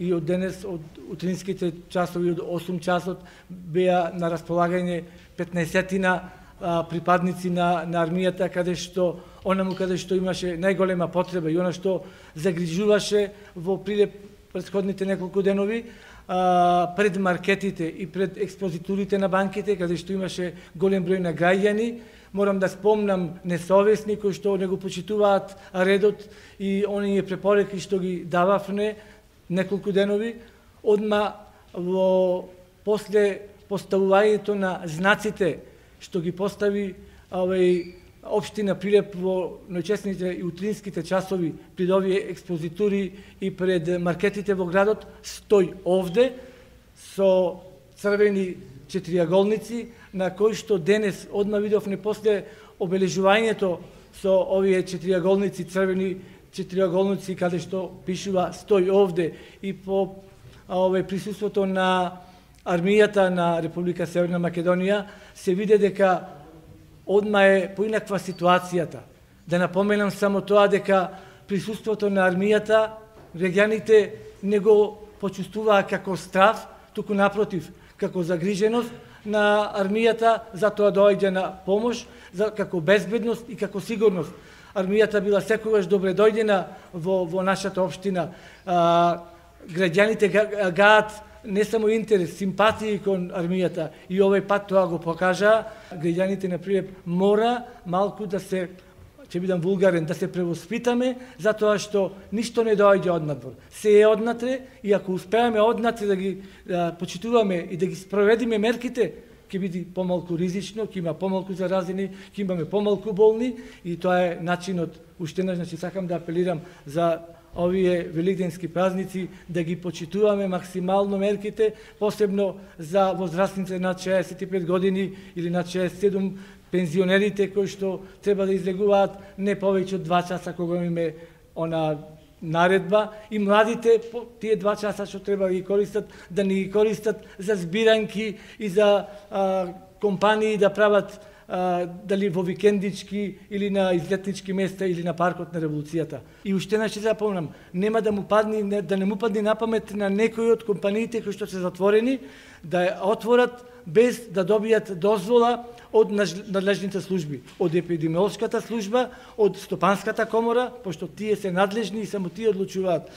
и од денес, од утринските часови, од 8 часот, беа на располагање 15-тина припадници на армијата, каде што имаше најголема потреба и она што загрижуваше во Прилеп претходните неколку денови, пред маркетите и пред експозитурите на банките, каде што имаше голем број на граѓани. Морам да спомнам несовесни кои што не го почитуваат редот и оние препораки што ги дававме неколку денови. Одма после поставувањето на знаците што ги постави општина Прилеп во ноќесните и утринските часови пред овие експозитури и пред маркетите во градот, стој овде со црвени четириаголници, на кои што денес одма видовме после обележувањето со овие четириаголници, црвени четириаголници, каде што пишува стој овде, и по присуството на армијата на Република Северна Македонија, се виде дека одма е поинаква ситуацијата. Да напоменам само тоа дека присуството на армијата граѓаните не го почувствуваа како страв, туку напротив, како загриженост на армијата, затоа доаѓа на помош, како безбедност и како сигурност. Армијата била секогаш добре дојдена во нашата општина. Граѓаните гаат не само интерес, симпатии кон армијата, и овој пат тоа го покажа. Граѓаните на Прилеп мора малку да се, ќе бидам вулгарен, да се превоспитаме, затоа што ништо не доаѓа однадвор. Се е однатре, и ако успееме однатре да ги почитуваме и да ги спроведиме мерките, ќе биде помалку ризично, ќе има помалку заразени, ќе имаме помалку болни, и тоа е начинот. Уште еднаш, значи, сакам да апелирам за овие великденски празници да ги почитуваме максимално мерките, посебно за возрастните над 65 години или над 67, пензионерите кои што треба да излегуваат не повеќе од 2 часа кога имаме она наредба, и младите тие 2 часа што треба да ги користат, да не ги користат за збиранки и за компании да прават дали во викендички или на излетнички места или на паркот на Револуцијата. И уште еднаш ќе запомнам, нема да не му падне на памет на некои од компаниите кои што се затворени да ја отворат без да добијат дозвола од надлежните служби, од епидемиолошката служба, од Стопанската комора, пошто тие се надлежни и само тие одлучуваат.